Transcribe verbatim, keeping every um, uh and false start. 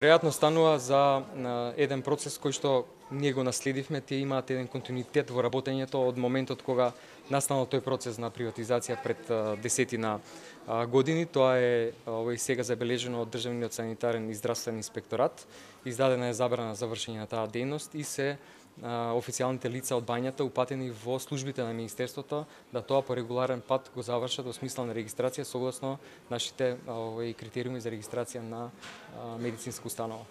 Веројатно станува за еден процес кој што ние го наследивме, тие имаат еден континуитет во работењето од моментот кога настанал тој процес на приватизација пред десетина години. Тоа е овој сега забележено од Државниот санитарен и здравствен инспекторат. Издадена е забрана за вршење на таа дејност и се официјалните лица од бањата упатени во службите на Министерството да тоа по регуларен пат го завршат во смисла на регистрација согласно нашите овој критериуми за регистрација на медицинска установа.